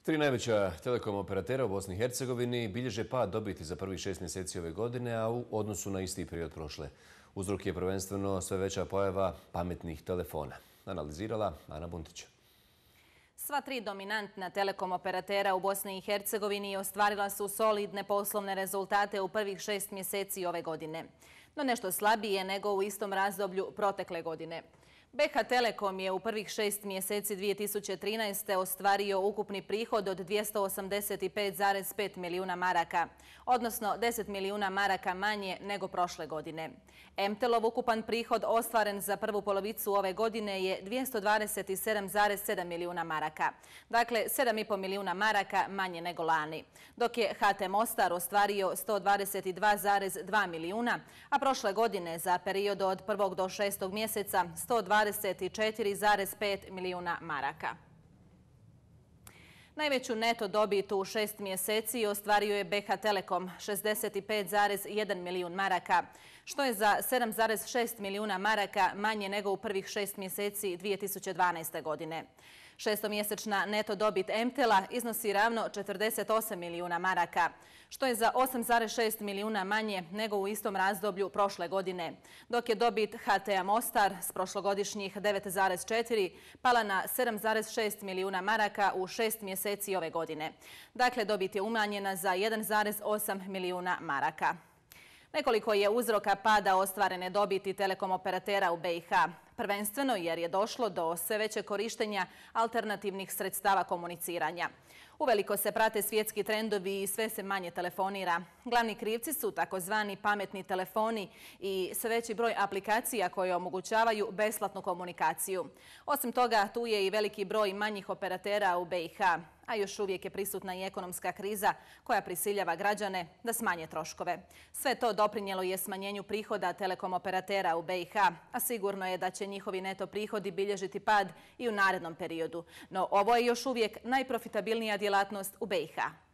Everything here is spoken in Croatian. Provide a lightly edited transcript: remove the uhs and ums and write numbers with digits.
Tri najveća telekom operatera u Bosni i Hercegovini bilježe pad dobiti za prvih 6 mjeseci ove godine, a u odnosu na isti period prošle. Uzrok je prvenstveno sve veća pojava pametnih telefona. Analizirala Ana Buntić. Sva tri dominantna telekom operatera u Bosni i Hercegovini ostvarila su solidne poslovne rezultate u prvih 6 mjeseci ove godine, no nešto slabije nego u istom razdoblju protekle godine. BH Telekom je u prvih 6 mjeseci 2013. ostvario ukupni prihod od 285,5 milijuna maraka, odnosno 10 milijuna maraka manje nego prošle godine. MTEL-ov ukupan prihod ostvaren za prvu polovicu ove godine je 227,7 milijuna maraka, dakle 7,5 milijuna maraka manje nego lani, dok je HT Mostar ostvario 122,2 milijuna, a prošle godine za period od 1. do 6. mjeseca 124,5 milijuna maraka. Najveću neto dobit u 6 mjeseci ostvario je BH Telekom 65,1 milijun maraka, što je za 7,6 milijuna maraka manje nego u prvih 6 mjeseci 2012. godine. Šestomjesečna neto dobit MTEL-a iznosi ravno 48 milijuna maraka, što je za 8,6 milijuna manje nego u istom razdoblju prošle godine, dok je dobit HT Mostar s prošlogodišnjih 9,4 pala na 7,6 milijuna maraka u 6 mjeseci ove godine. Dakle, dobit je umanjena za 1,8 milijuna maraka. Nekoliko je uzroka pada ostvarene dobiti telekom operatera u BiH, prvenstveno jer je došlo do sve većeg korištenja alternativnih sredstava komuniciranja. Uveliko se prate svjetski trendovi i sve se manje telefonira. Glavni krivci su takozvani pametni telefoni i sve veći broj aplikacija koje omogućavaju besplatnu komunikaciju. Osim toga, tu je i veliki broj manjih operatera u BiH, a još uvijek je prisutna i ekonomska kriza koja prisiljava građane da smanje troškove. Sve to doprinijelo je smanjenju prihoda telekom operatera u BiH, a sigurno je da će njihovi neto prihodi bilježiti pad i u narednom periodu. No ovo je još uvijek najprofitabilnija djelatnost u BiH.